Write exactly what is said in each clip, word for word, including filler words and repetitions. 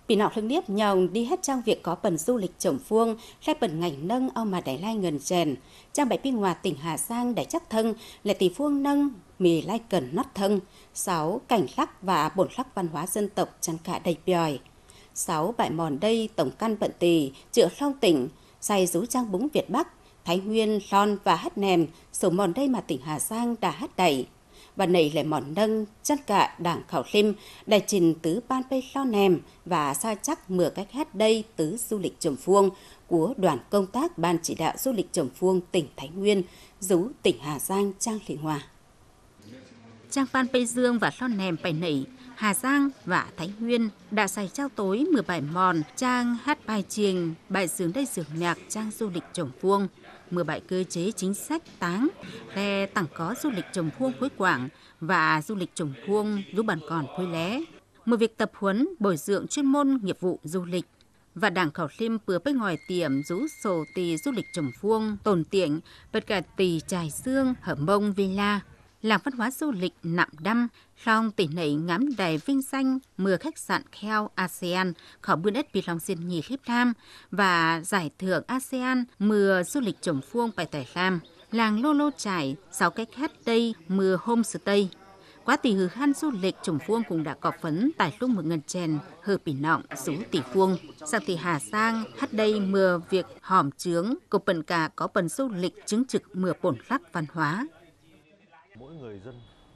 Pỉ nọng lưng niếp nhòng đi hết chang việc có pần du lịch chổng phuông, leh pần ngành nâng au mà đảy lai ngần chèn. Chang bảy pi ngoa tỉnh Hà Giang đảy chắc thâng, lẻ tỷ phuông nâng mì lai cần nót thâng. Sáu, cảnh lắc và bổn lắc văn hóa dân tộc chăn cả đảy piòi. Sáu, bại mòn đây tổng căn bận tì, chựa Long tỉnh, say dú chang búng Việt Bắc, Thái Nguyên, Lon và hát nem, sổ mòn đây mà tỉnh Hà Giang đã hát đảy. Và nảy lẻ mòn nâng, chăn cả đảng khảo lim, đảy trình tứ ban pê lo nem và sa chắc mưa cách hát đây tứ du lịch chổng phuông của đoàn công tác Ban chỉ đạo du lịch chổng phuông tỉnh Thái Nguyên, dú tỉnh Hà Giang chang lị hoa. Chang Phan Pê Dương và Lon Nem pay nảy, Hà Giang và Thái Nguyên đã say chao tối mưa bại mòn, chang hát bài chiêng, bài dường đây dường nhạc chang du lịch chổng phuông, mưa bại cơ chế chính sách táng, lẻ tặng có du lịch chổng phuông Khuối Quảng và du lịch chổng phuông Lũ Bản Còn Khuối Lé. Mưa việc tập huấn bồi dưỡng chuyên môn nghiệp vụ du lịch. Và đảng khảo lim pưa pếch ngòi tiệm dú sổ tỉ du lịch chổng phuông tồn tiện, bật cả tỉ Chải Dương, Hở Mông, Villa. Làng văn hóa du lịch Nặm Đăm, Long tỉnh nảy ngắm đài vinh danh mưa khách sạn Kheo ASEAN, khảo bươn ết pi Long Diên Nhì Lip Lam và giải thưởng ASEAN mưa du lịch chổng phuông pay tải lam. Làng Lô Lô Chải, sáu cách hát đây mưa homestay. Quá tỉ hử hăn du lịch chổng phuông cũng đã có phấn tải lung mưa ngân chèn, hơ pi nọng dú tỉ phuông. Sang tỉ Hà Giang, hát đây mưa việc hòm chướng, cũng bận cả có bận du lịch chứng thực mưa bổn lắc văn hóa.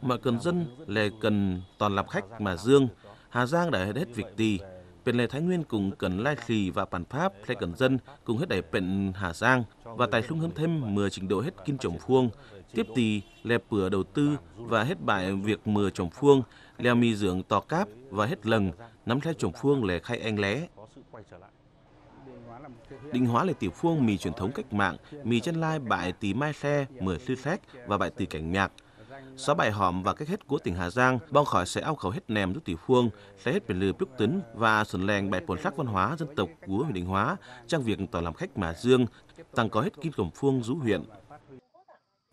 Mọi cần dân lẻ cần toàn làm khách mà Dương, Hà Giang đã hết, hết việc tì. Pện lẻ Thái Nguyên cũng cần lai khỉ và bản pháp, lẻ cần dân cũng hết đảy pện Hà Giang. Và tài lung hớm thêm mưa trình độ hết kin chổng phuông. Tiếp tì lẻ pửa đầu tư và hết bại việc mưa chổng phuông, lẻ mì dưỡng tọ cáp và hết lồng, nắm lẻ chổng phuông lẻ khay eng lé. Định hóa lẻ tiểu phuông mì truyền thống cách mạng, mì chân lai bại tỉ mai lẻ mười lư lét và bại tỉ cảnh nhạc. Sáu bại hòm và cách hết của tỉnh Hà Giang, bong khỏi sẽ ao khẩu hết nem dú tiểu phuông, lẻ hết pên lư plúc tứn và xuân leng bại bổn sắc văn hóa dân tộc của huyện Định Hóa, chang việc tỏ làm khách mà Dương, tăng có hết kim chổng phuông dú huyện.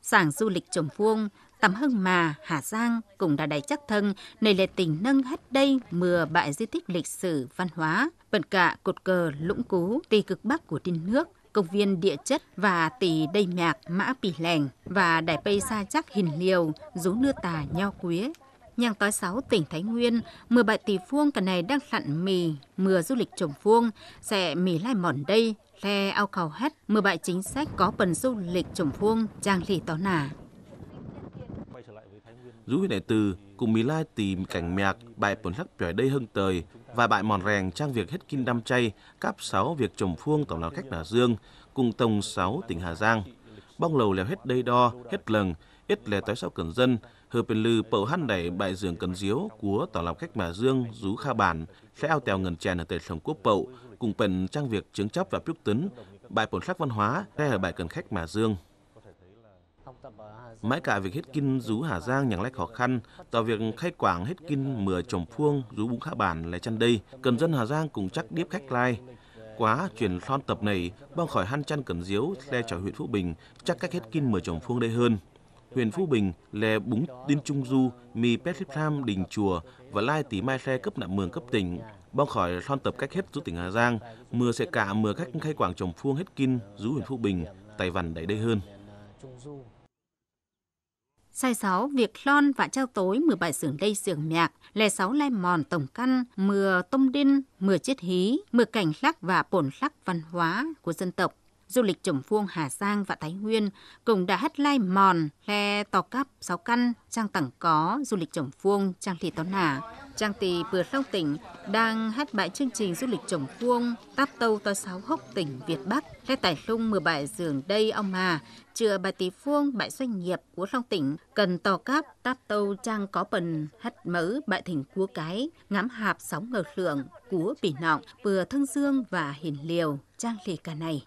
Sảng du lịch chổng phuông, tăm hưng mà Hà Giang cũng đã đảy chắc thâng, nảy lẻ tỉnh nâng hát đây mưa bại di tích lịch sử văn hóa, bận cả cột cờ Lũng Cú, tỉ cực bắc của Đin Nước, công viên địa chất và tỉ đê mạc Mã Pì Lèng và đảy pây sa chắc Hìn Liêu, dú nưa tà Nho Quế. Nhằng tói sáu tỉnh Thái Nguyên, mưa bại tỉ phuông cà này đang lặn mì, mưa du lịch chổng phuông, sẽ mì lai mòn đây, lẻ ao khẩu hết, mưa bại chính sách có bận du lịch chổng phuông, chang lì tó nả. Dú huyện Đại Từ, cũng mì lai tỉ cảnh mạc, bại bổn sắc piỏi đây hưng tời, và bại mòn rèng chang việc hết kin đăm chay, cáp sáu việc chổng phuông tổng lao khách Hà Dương, cùng tổng sáu tỉnh Hà Giang. Bong lầu lẻo hết đây đo, hết lồng, ít lẻ tói sáu cần dân, hơ pên lư pậu hăn đảy bại dưỡng cần diếu của tổng lao khách Hà Dương dú kha bản, lẻ ao tèo ngân chèn ở tệ lồng quốc pậu, cũng pên chang việc chứng chấp và plúc tứn, bại bổn sắc văn hóa, lẻ hở bại cần khách Hà Dương. Mái cạ việc hết kin dú Hà Giang nhẳng lé khó khăn, tỏ việc khay quảng hết kin mưa chổng phuông dú búng khá bản lẻ chăn đây. Cần dân Hà Giang cũng chắc điếp khách lai. Quá chuyển lon tập nảy, bong khỏi hăn chăn cần diếu, lẻ chỏi huyện Phú Bình, chắc cách hết kin mưa chổng phuông đây hơn. Huyện Phú Bình, lẻ búng Đin Trung Du, mì pét lip tham đình chùa, và lai tỉ mai lẻ cấp nặng mường cấp tỉnh. Bong khỏi lon tập cách hết dú tỉnh Hà Giang, mưa sẽ cạ mưa cách khay quảng chổng phuông hết kin dú huyện Phú Bình, Tài Văn đảy đây hơn. Sai sáu, việc lon và trao tối mưa bại dưỡng đây dưỡng mạc, lẻ sáu lai mòn tổng căn, mưa tôm đin, mưa chết hí, mưa cảnh lắc và bổn lắc văn hóa của dân tộc. Du lịch chổng phuông Hà Giang và Thái Nguyên cũng đã hắt lai mòn, lẻ tọ cắp sáu căn, chang tẳng có du lịch chổng phuông, chang lì tó nả. Chang tỉ bươ Long tỉnh đang hắt bại chương trình du lịch chổng phuông, táp tâu tói sáu hốc tỉnh Việt Bắc, lẻ tải lung mưa bại dưỡng đây ao mà, chưa bại tỉ phuông, bại doanh nghiệp của Long tỉnh, cần tọ cắp táp tâu chang có bần hắt mớ bại thỉnh cua cái, ngắm hạp sáu ngờ lượng của pi nọng, pưa Thưng Dương và Hìn Liêu, chang lì cà này.